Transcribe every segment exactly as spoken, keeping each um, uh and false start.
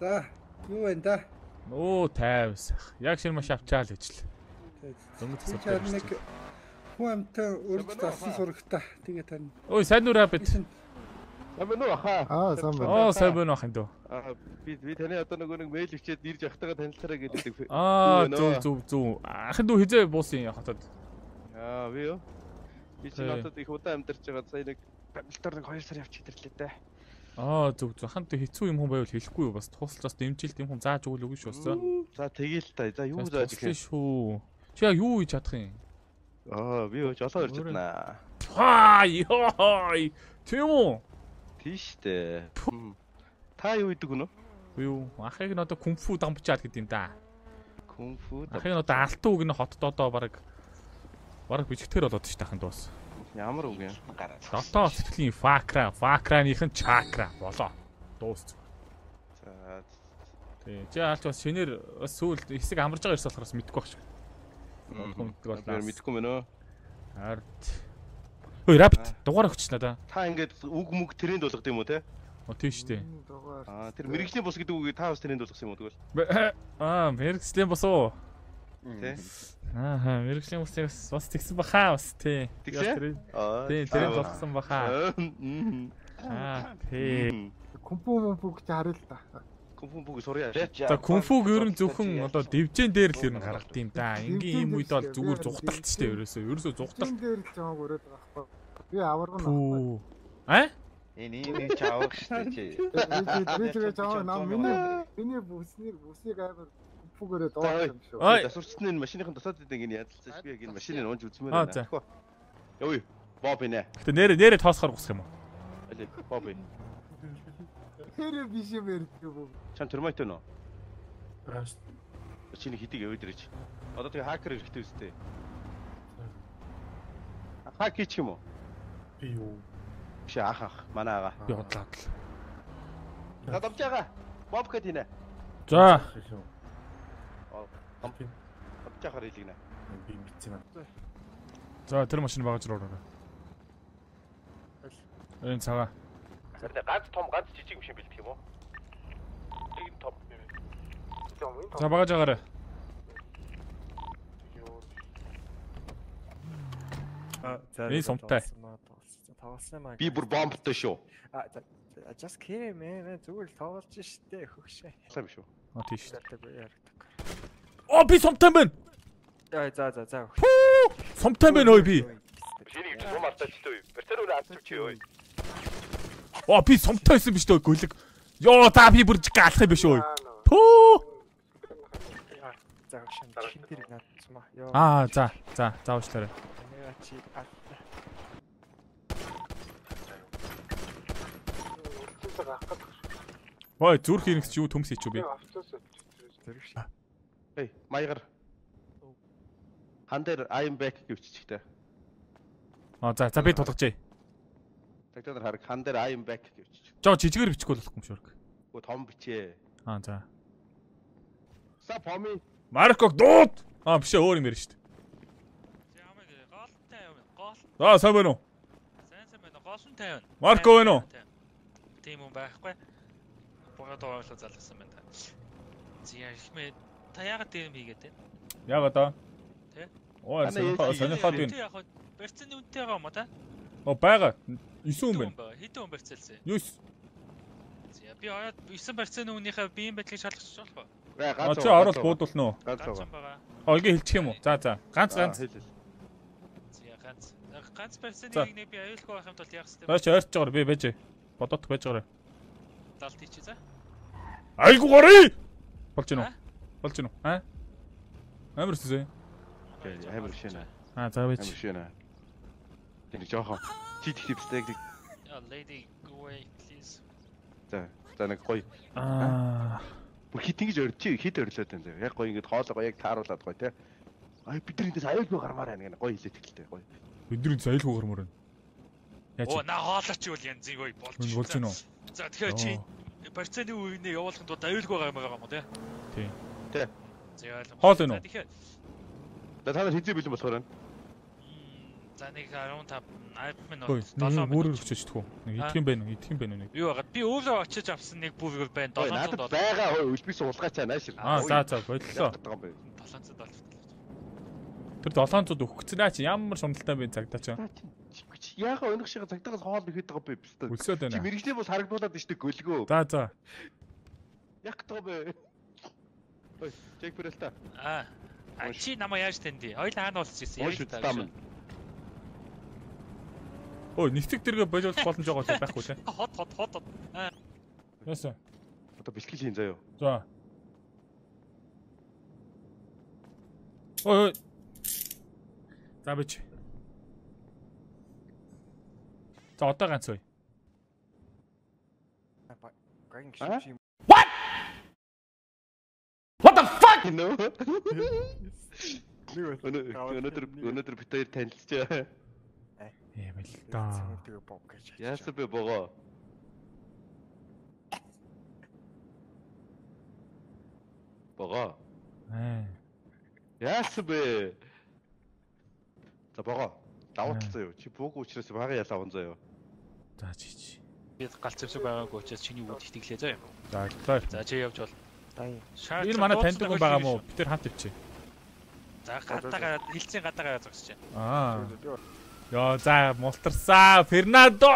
За, юу вэ да? Оо тайвс. Яг шинэ маш авчаал гэж л. Дөнгөж цацаад нэг хүн амтай өрж залсан сурагта. Тэгээ тань. Ой, сайн нүрэ бит. Сайн байна уу хаа? Аа, сайн байна. Оо, сайн байна ах юм дөө. Аа, би би таны одоо нөгөө нэг мэйл өчөөд ирж явахтайгаа танилцаарай гэдэг. Аа, зүг зүг зүг. Ахын дүү хизээ буусын хотод. Аа, би юу? Би чи хотод их удаан амьдарч байгаа. Сая нэг тамилтаар нэг хоёр сар явчих ирлээ дээ. Аа, зүг зүг. Ахын дүү хэцүү юм хүн байвал хэлэхгүй юу? Бас тусалж бас дэмжилт юм хүн зааж өгөл өгнө шүү дээ. За тэгээл та. За юу зааж өгөх юм шүү. Чи яг юу хийж чадах юм? Аа, би юу жолоо ирж чаднаа. Аа, ёй. Тийм үү? Тийштэй. Та юу идэг гэнэ? Юу? Ахыг нь одоо кунфу дамжаад гэдэг юм да. Кунфу. Ахыг нь одоо алтан үг нь хотод одоо баг баг бичгтэр болоод ш тахын дуус. Ямар үг юм? Дотоо сэтгэлийн факра, факраныхын чакра болоо. Дуус. За. Тий. Чи аль ч бас шинээр бас сүүл хэсэг амарж байгаа ерөөс болохоос мэдгүй байх шиг. Мэдгүй болоо. Мэдгүй мэнэ. Харт. Ой, рапт дугаар өгч надаа. Та ингээд үг мүг тренд болгох юм уу те? Оо тийм шүү дээ. Аа, тэр мэрэгжлийн бус гэдэг үгийг та бас тренд болгосон юм уу тэгвэл? Аа, мэрэгжлийн бус уу? Тэ. Аа, мэрэгжлийн бусыг бас тэгсэн бахаа бас тий. Тэгсэн? Аа. Тий, тренд болгосон бахаа. Аа, тий. Кунфу мунфуг чи харъя л да. Кунфу бүг сурья. За кунфуг ер нь зөвхөн одоо дивжэн дээр л ер нь гаргад юм да. Ингийн ийм үед бол зүгээр зугталт ч дээ ерөөсөө. Ерөөсөө зугталт. Дээр л жааг өрөөд байгаа байхгүй. Би аварга нахгүй. А? Энэ ийм чаавах штэ чи. Би тэгээ жааг нам миний миний бүснийг бүсийг амар кунфугээрээ доош юм шүү. Засварчны энэ машиныхын тусаад идэг энэ ядалцсан би яг энэ машиныг унж үзмээр байна. Явъя. Боб инэ. Гэтэ нэрэ нэрэ тоосохоор гусах юм уу? Алей, Боб инэ. Тэр биш юм ярьдаг юм. Чам термайт өнөө. Раш. Чиний хитиг яваад ирэж. Одоо тэгээ хакер хэрэгтэй үстэй. Хак хийчих юм уу? Би юу? Биш ах ах, манай ага. Би бодлоо. Гадамж байгаа. Боб гэт инэ. За. Ампи. Авчахаар хэлгэнэ. Би мэдсэн юм. За, тэр машин багаж руу ороо. Энэ цагаа. Тэрнээ ганц том ганц жижиг машин бэлдэх юм уу? Нэг том. За багаж агаарай. А, за. Энэ сумтай. Би бүр бомбтой шүү. А, just kidding man. Зүгээр л тоглож штэ хөгшөө. Сайн биш үү? А тийш. Оо би сумтай байна. За за за за. Сумтай байна ой би. Шинийг юм алтаачтай. Бэртэр өөр авчих ой. Оо би сумтайсэн биш дээ гөлөг. Йоо за би бүр гаалах юм биш ой. Төө. За шин шин тэр наацмаа. Йоо. Аа за за заавчлаарай. Нэ чи а. Ой зүрх хэрэгч юу төмс хийч үү би. Эй, маягаар. Хан дээр I am back гэвчихтэй. Аа за за би тулгажээ. Тагтаар хараг хан дээр I am back гэвчих. Жоо жижигээр бичихгүй болохгүй юм шүү. Гү том бичээ. Аа за. Са поми. Марко дууд. Аа биш өөр юм ярина шүү дээ. Ямаг гоолтой юм. Гоол. Аа сайн байна уу? Сайн сайн байна. Гоолтой байна. Марко байна уу? Тийм юм байхгүй. Богод оолоо залгасан байна. Зя ихмээ та яагаад тийм хийгээд байна? Яг одоо. Тэ? Оо сонирхоо сонирхоод байна. Яг барьцны үнэтэй байгаа юм уу та? Оо байгаа. девять хүн байна. Хэдэн хүн барьцаалсан? девять. Зя би ороод девять барьцны үнийхээ биеийн байдлыг шалгах болох уу? А чи ороод буудуулна уу? Ганц байгаа. Ойгийн хэлчих юм уу? За за. Ганц ганц. Зя ганц. Ганц барьцны нэг би аюулгүй байх юм бол яах вэ? Баач ойрч байгаа би байж. Бодот байж байгаа. Далт хийчих за. Айгу горий. Болж гинөө. Болж гинөө. Аа? Амар сүзээ. Амар шинэ. Аа за байж. Амар шинэ. Тэний жоохон чит хипстэй гэдэг. Yeah, lady go away please. За, за нэг гоё. Аа. Бүр хит ингэж өрчи хит өрлөөд байна. Яг гоё ингэж хоолоо яг тааруулаад гоё те. Ай бидний дэс аюулгүй гармаар байна гэнэ. Гоё хэлээд хэлтэй гоё. Бидний дэс аюулгүй гармаар байна. Яаж? Оо на хоолооч юу янзын гоё болж байна. Болж байна уу? За тэгэхээр чи барьцааны үеийг явуулахын тулд аюулгүй гармаар байгаа юм уу те? Тий. Тэ. За хоол байна уу? За та нар хэзээ бэлэн болохоор байна? За нэг арван таван минут Ой, нэг өөрөөр өчөж тхүү. Нэг идэх юм байна уу? Идэх юм байна уу нэг? Юу байгаа? Би өөрөө очиж авсан нэг бүргэр байна. Надад байгаа хөө үлбис уулгаач нааш. Аа, за за боллоо. долоонцод болж. Тэр долоонцод өгөх гэсэн аа чи ямар шундалтай бэ цагдаа чи. Яага өнөх шиг цагдаагаас хоол нэхэд байгаа бэ бистэ. Өлсөөд байна. Чи мэрэгжлийн бус харагдуулаад байна шүү дээ гөлгөө. За за. Яг тоо бэ. Ой, чек бүрэлтэ. Аа. А чи намайг яаж тэндий? Хоёул хаана уулзчихсан? Ой шүтээ. Ой, нэгтгэг дэргээ боловч боломж байгаа л байхгүй те. Хот хот хот. Аа. Яасан. Одоо бэлтгэл хийн заяа. За. Ой. За бич. За одоо ганц үе. What? What the fuck? No. Өнөөдөр өнөөдөр бид хоёр танилцчаа. Ийм л да. Яасан бэ богоо? Богоо. Аа. Яасан бэ? За богоо. Давуу тал заяа. Чи бууг учраас бага ялаа он заяа. За чи чи. Би галц зэвсэг байгаагүй учраас чиний үд итгэлээ заяа. За за. За чи явж бол. Энэ манай таньдаг хүн байгаа мó? Бид тэр хамт ивчээ. За гадаагаа хилцэн гадаагаа зогсож байна. Аа. Яа за мултарсаа Фернандо.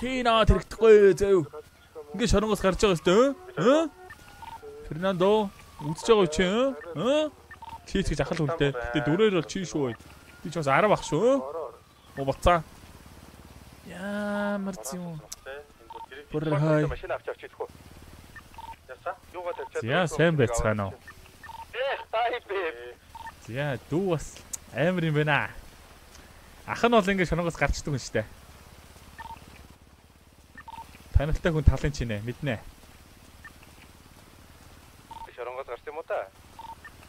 Чина тэрэгдэхгүй зөө. Ингээ шоронгоос гарч байгаа өстэй. Хэ? Фернандо үзэж байгаа чи хэ? Чийч гэж ахал хүнтэй. Гэтэ дөрөөр бол чи шүү. Би ч бас арав ах шүү. Оо бацаа. Ямар зүүн. Бүр хай. Машин авч авч идэх үү? Яса? Юугаа тавьчаад. Яа сайн байцгаана уу? Эх тай бэ. Яа дүү бас амар юм байна. Ах нь бол ингэ шоронгоос гарчдаг хүн штэ. Танилтай хүн талын чинэ мэднэ. Шоронгоос гарч юм уу та?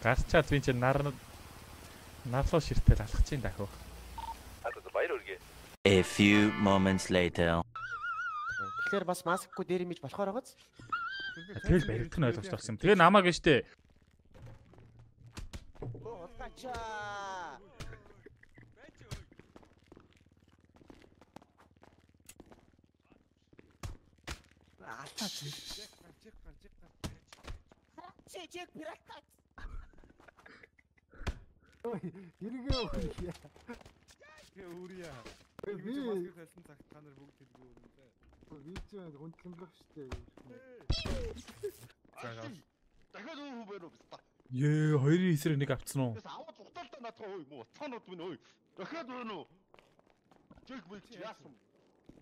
Гарчаад би чинь нар нарлуу ширтэл алхах чинь дахив. Одоо баяр үргээ. A few moments later. Тэгэхээр бас маскгүй дээр имиж болохоор байгааз. Тэгэл баригдах нь ойлгож тагсан юм. Тэгээ намаа гэжтэй. Алтаа чи. Чи чек пирата. Ой, хэрэгээ өгье. Тэгээ өөрийгөө. Би Маскыг хэлсэн цагт та нар бүгд хэлгүй юм дээ. би ч хүндлэмлэх штэ. Дахиад юу бэ нөө бста. Ее хоёрын эсрэг нэг авцсан уу? Аваад ухтаалтаа наадах ой муу цаанууд минь ой. Дахиад байна уу? Чек бүл чи яасан?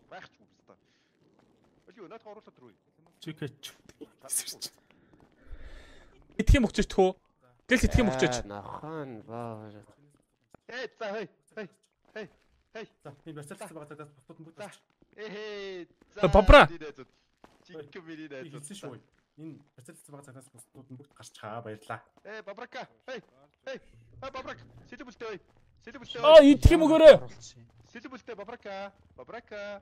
Багч уу бста. Өлөө наадах оруулаад руу. Чикэч. Идэх юм өгчөж тхөө. Гэл идэх юм өгчөж. Нахан баа. Ээ за хей хей хей хей. За би бацаалсан байгаа цагаас бусдууд нь бүгд. Эхээ. Бабра. Чик миний Би найз. хэлсэн шүү. Энэ бацаалсан байгаа цагаас бусдууд нь бүгд гарч чаа баярлаа. Ээ бабрака. Хей. Хей. Хей бабрак. Сэлбэлтэй ой. Сэлбэлтэй. Аа идэх юм өгөөрэй. Сэлбэлтэй бабрака. Бабрака.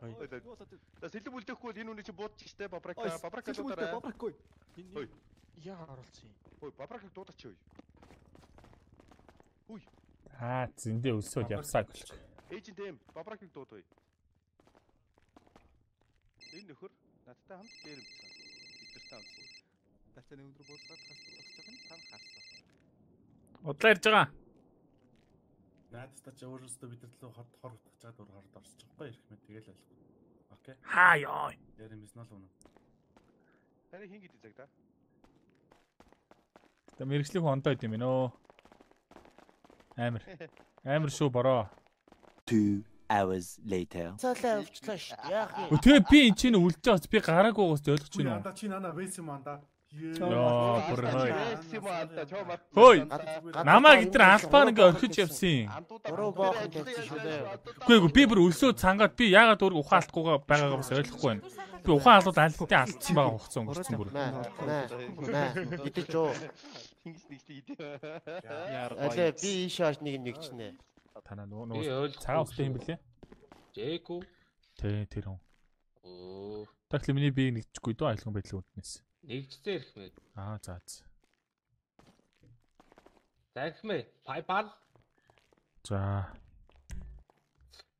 За сэлбэлтэхгүй энэ үний чи буудчих штэ бабрака. Бабрака дуудаарай. Бабракгүй. Ой. Яа оруулсан юм. Ой бабракыг дуудаач ой. Уй. Аа зөндөө өлсөд явсаа гэх. Эйжент эм бабракыг дууд ой. Энэ нөхөр надтай хамт дээр юмсан. Бидэртэй хамт. Тацааны өндөр буулгаад хас тогтсох нь тань харсан. Удлаа ирж байгаа. Наадтай ч өөрөөсөө бид нар лөө хот хор утгаж чад уур хард орсож байгаа ирэх мэт тэгэл ойлгох. Окей. Хаа ёо. Яр юм эсвэл үнэ. Таны хин гэдэг цаг та. Тэ мэрэгжлийн хүн ондоо идэм нөө. Амар. Амар шүү бороо. Two hours later. Цаалаа өвчлөө ш. Яах юм? Тэгээ би энэ чинь үлдэж байгаас би гараагүй байгаас ойлгож Чи байна уу? анда чи нана вэс юм анда. Яа бүр хой. Чомар. Хөөе. Намаа гитэр албаар ингээ орхиж явсан. Буруу боохон тавьчих шүү дээ. Үгүй ээ би бүр өлсөө цангаад би яагаад өөр ухаан алдахгүйгаа байгаагаа бас ойлгохгүй байна. Би ухаан алдууд альттай алдсан байгаа хугацаа өнгөрсөн бүр. Наа. Наа. Идэж юу? Хингс нэгтэй идэ. Алээ би ийш хаш нэг нэг чинь. Танаа нөгөө цагаан устай юм блэ? Жэку. Тэ тэр хүн. Оо. Тэгвэл миний би нэгчгүй дөө айлгын байдлын үднээс. Нэгжтэй ирэх мэд. Аа за за. За ирэх мэ. Пайпал. За.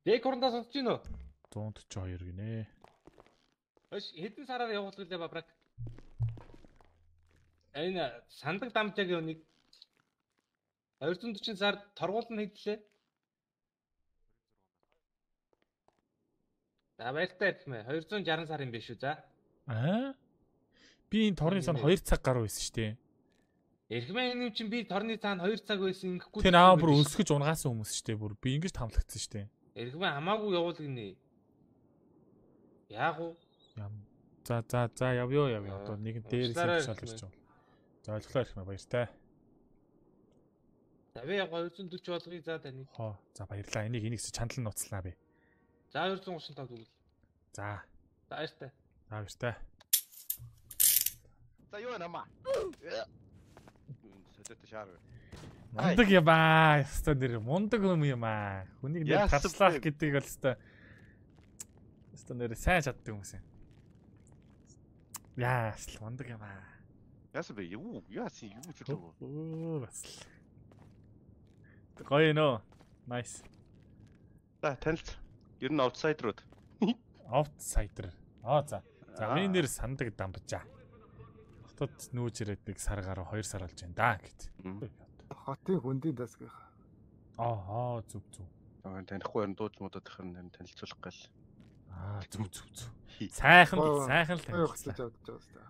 Дэг хурандаа сонсож гин үү? one forty-two гинэ. Өш хэдэн сараар явуулдаг лээ бабраг. Энэ сандаг дамжаагийн үнийг two forty сард торгуулн хийдлээ. За баяртай ирхмэ. two sixty сар юм биш үү за? Аа? Би энэ торны сан two цаг гаруй байсан шүү дээ. Ирхмэ энэ чинь би торны цаана two цаг байсан ингэхгүй. Тэр аа бүр өсгөж унгаасан хүмүүс шүү дээ. Бүр би ингэж тамлагдсан шүү дээ. Ирхмэ хамаагүй явуулгинэ. Яах вэ? Ям. За за за явё явё. Одоо нэг дээр шалж ирж байгаа. За ойлголоо ирхмэ баяртай. За би two forty болгоё за таны. Хоо. За баярлаа. Энийг энийгс чандлан нууцлаа би. За two thirty-five тэгвэл. За. За баяртай. За баяртай. За юу нама. Сэтэт шаар. Мундаг юм аа. Яста нэр мундаг юм юм аа. Хүнийг нэр таслах гэдэг бол яста. Яста нэр сайн чаддаг хүмүүс юм. Яа, мундаг юм аа. Яасан бэ? Юу? Яасан юу ч үү? Оо бас. Гоё нөө. Nice. За танилт. Ер нь аутсайдерууд. Outsider. Аа за. За миний нэр сандаг дамбажаа. Хотод нүүж ирээдэг сар гаруй two сар болж байна да гэт. Хотын хүндийн дасгах. Аа зүг зүг. Аа танихгүй ер нь дууч муудад их нь танилцуулах гал. Аа зүг зүг зүг. Сайхан сайхан л танилцуулж авч байгаа хэвээр.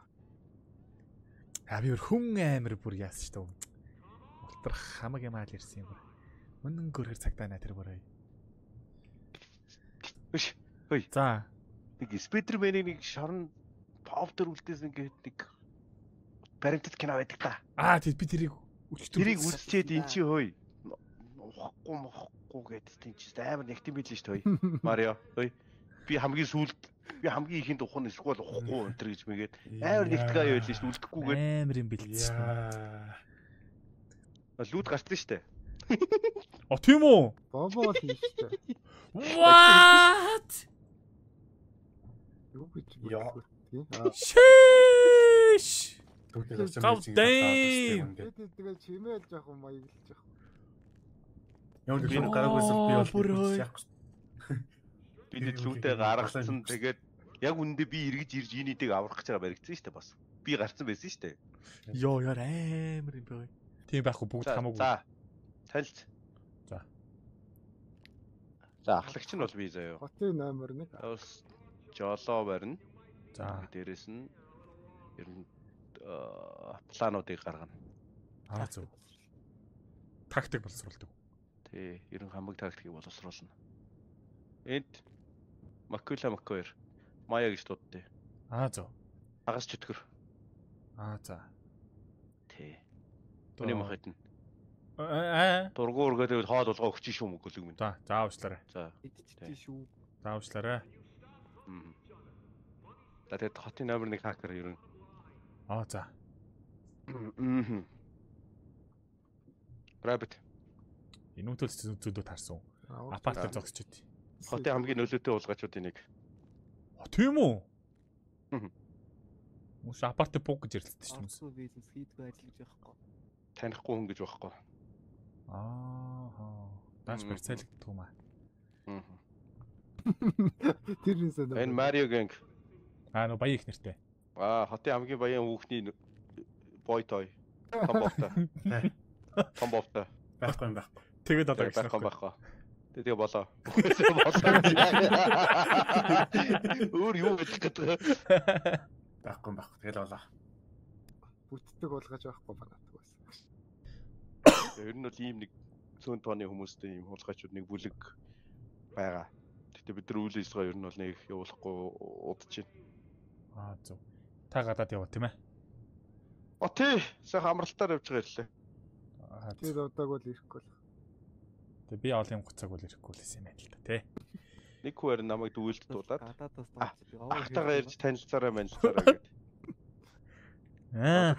Аа би өөр хүн амир бүр яасан шүү дээ. Ултрах хамаг юм аал ирсэн юм бүр. Мөн гөрхөр цагтаа наа тэр бүрээ. Биш. Хөөе. За. Нэг Spider-Man-ийг нэг шорон повдер үлдээс ингээд нэг баримтат кино байдаг та. Аа тий би тэрийг өчтөр тэрийг үлчээд эн чи хөөе. Ухахгүй мохгүй гэдэг тийм чи амар нэгтэн билээ шүү дээ хөөе. Марио хөөе. Би хамгийн сүүлд би хамгийн ихэнд ухах нь эсвэл ухахгүй өнтер гэж мэгээд амар нэгтгэе байлаа шүү дээ үлдэхгүйгээд. Амар юм бэлдсэн. Лүүд гарсан шүү дээ. О тийм үү? Бобоо тийштэй. What? Юу гэж Яа. Шиш. Тэгээд тэгээд чимээл жоох юм маяглаж жоох. Яа нэг юм гараагүйсэл би бол яахгүй. Би лүүтэй гаргасан тэгээд яг үндэ би эргэж ирж инээдэг аврах гэж байгаа баригдсан шүү дээ бас. Би гарцсан байсан шүү дээ. Йоо яар амар юм байна. Тийм байхгүй бүгд хамаагүй. За. Танилт. За. За ахлагч нь бол би заяа. Хотын номер one. Бас жолоо барина. За дээрэс нь ер нь плануудыг гаргана. Аа зөв. Тактик боловсруулдаг. Тий, ер нь хамаг тактикийг боловсруулна. Энд Маккула Маккуэр Мая гэж дууддээ. Аа зөв. Агас чөтгөр. Аа за. Тий. Төний махад нь. Аа. Дургуур гэдэг хоол болгоо өгч шүү мөгөлөг минь. За, заавчлаарай. За. Идчихтэй шүү. Заавчлаарай. Мм. Тэгээд хотын номер one хакер ер нь. Аа за. Мм. Rabbit. Инүүтэл зүйлүүд харсан. Апартер зогсож байт. Хотын хамгийн нөлөөтэй уулгачуудын нэг. А тийм үү? Мм. Мус апартер буг гэж ярилцдаг шүү дээ. Арцуу бизнес хийдгүй ажиллаж байхгүй. Танихгүй хүн гэж байхгүй. Аа. Даш барьцаалагддаг юм аа. Мм. Тэр нь санаа. Энэ Mario Gang. Аа нөө баян их нэртэй. Аа, хотын хамгийн баян хүүхний boy toy. Комбовта. Комбовта. Байхгүй юм байхгүй. Тэгээд одоо байхгүй байхгүй. Тэгээ болоо. Өөр юу хэлэх гэдэг вэ? Байхгүй байхгүй. Тэгэл болоо. Бүтдэг болгож байхгүй банаадаг байсан. Ер нь бол ийм нэг цөөн тооны хүмүүстэй ийм хулгайчуд нэг бүлэг байгаа. Гэтэ бид нар үйл ажиллагаа ер нь бол нэг явуулахгүй удаж байна. Аа зөв. Та гадаад яваа тийм ээ. О тий, сайхан амралтаар явж байгаа ирлээ. Аа Тэр удааг бол ирэхгүй л. Тэгээ би олон гоцог бол ирэхгүй л юм байна л да тий. Нэг хүүер намайг дүүлд дуулаад Гадаадаас ахтагаа ирж танилцаараа манилцаараа гэдэг. Аа.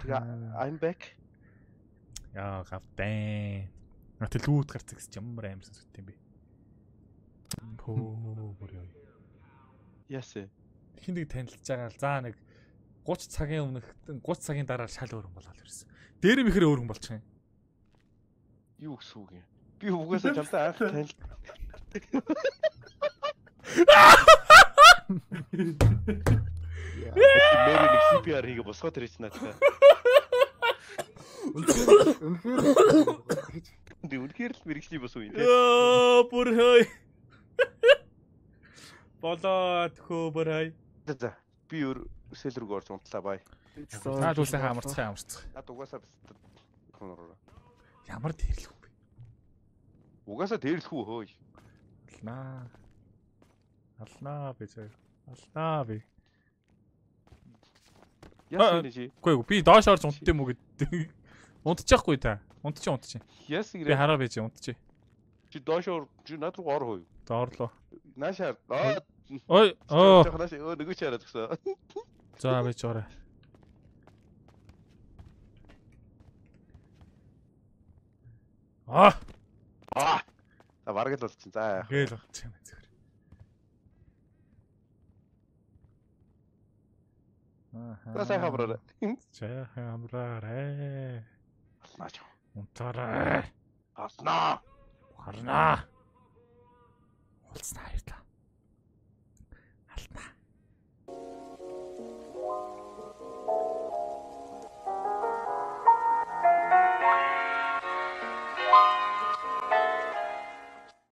I'm back. Яа гавтэн. Натэл лүүд гарцаг гэж ямар аим сонсогд юм бэ? Пөө бүр яа. Ясэ. Хин нэг танилцж байгаа л заа нэг thirty цагийн өмнөх thirty цагийн дараа шал өөр хүн болоод ирсэн. Дээр мэхэр өөр хүн болчих юм. Юу гэсэн үг юм? Би угаасаа чамтай анх танил. Мэр нэг си пи ар хийгээ босгоод ирэж надаа. Үнэхээр Тэ үнэхээр л мэрэгчний бос уу юм те. Оо бүр хой. Болоод хөө бүр хой. За би өөр сэл рүү орж унтлаа бай. Наад үсээ хамарцгаа хамарцгаа. Наад угаасаа хонороо. Ямар дээрлэх вэ? Угаасаа дээрлэх үү хөөе. Алнаа. Алнаа би зөө. Алнаа би. Яс нэг чи. Үгүй ээ би доош орж унтд юм уу гэдэг. Унтчихгүй та. Унтчих унтчих. Яс Би гэрээ. хараа байж унтчих. Чи доош ор чи над руу ор хөөе. Доорлоо. Наашаа. Аа. Ой оо. Жохнаш өө нөгөө чи хараад гисэн. За байж орой. Аа. Аа. За бараг л болчихсон. За. Гээл болчих юм зүгээр. Аа. За сайхан амраарай. Сайхан амраарай. Алнаач. Унтаарай. Алнаа. Харнаа. Улснаа юу та.